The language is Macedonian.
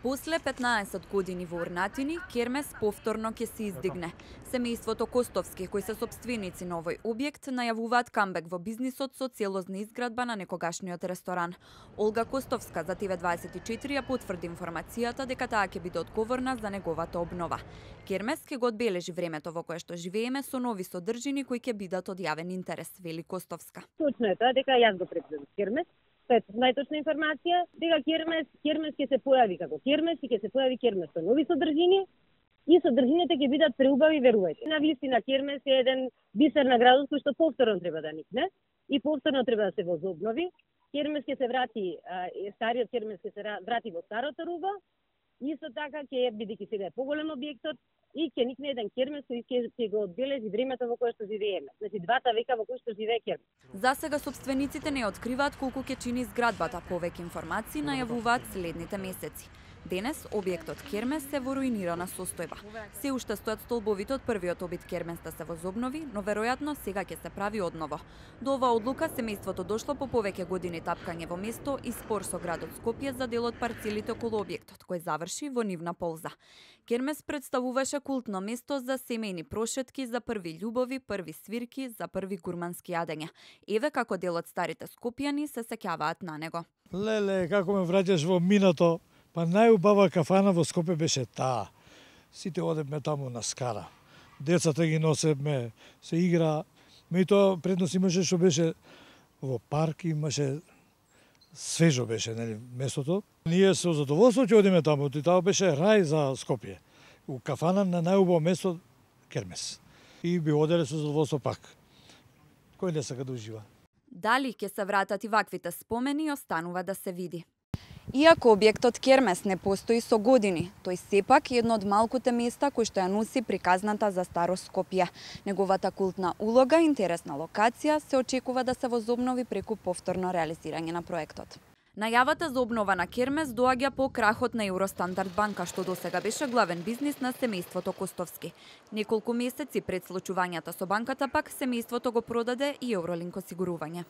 После 15 години во Урнатини, кермес повторно ќе се издигне. Семејството Костовски, кои се сопственици на овој објект, најавуваат камбек во бизнисот со целосна изградба на некогашниот ресторан. Олга Костовска за TV24 ја потврди информацијата дека таа ќе биде одговорна за неговата обнова. Кермес ќе го одбележи времето во кое што живееме со нови содржини кои ќе бидат од јавен интерес, вели Костовска. Точно е тоа дека јас го предвидам кермес. Тоа е најточна информација, дека кермес ќе се појави како кермес и ќе се појави кермес со нови содржини и содржините ќе бидат преубави, верувајте. На вистина кермес е еден бисер на градот кој што повторно треба да никне и повторно треба да се возобнови. Кермес ќе се врати, стариот кермес ќе се врати во старото руба. Исто така ќе бидејќи сега е поголем објектот и ќе никне еден кермес кој ќе го одбележи времето во кое што живееме. Значи 2 века во кои што живее кермес. За сега собствениците не откриваат колку ќе чини зградбата, повеќе информации најавуваат следните месеци. Денес објектот кермес се во руинирана состојба. Се уште стојат столбовите од првиот обид кермес да се возобнови, но веројатно сега ќе се прави одново. До оваа одлука семејството дошло по повеќе години тапкање во место и спор со градот Скопје за дел од парцелите околу објектот, кој заврши во нивна полза. Кермес представуваше култно место за семејни прошетки, за први љубови, први свирки, за први гурмански јадења. Еве како дел од старите скопјани се сеќаваат на него. Леле, како ме враќаш во минато. Па најубава кафана во Скопје беше таа. Сите одевме таму на скара. Децата ги носевме, се игра. Меѓутоа предност имаше што беше во парк, имаше свежо беше, нели, местото. Ние со задоволство ќе одиме таму, и тоа беше рај за Скопје. У кафана на најубаво место кермес. И би оделе со задоволство пак. Кој не сака да ужива? Дали ќе се вратат и ваквите спомени останува да се види. Иако објектот кермес не постои со години, тој сепак е едно од малкуте места кои што ја носи приказната за старо Скопје. Неговата култна улога, интересна локација се очекува да се возобнови преку повторно реализирање на проектот. Најавата за обнова на кермес доаѓа по крахот на Евростандард банка, што досега беше главен бизнис на семејството Костовски. Неколку месеци пред случувањата со банката пак семејството го продаде и Евролинк осигурување.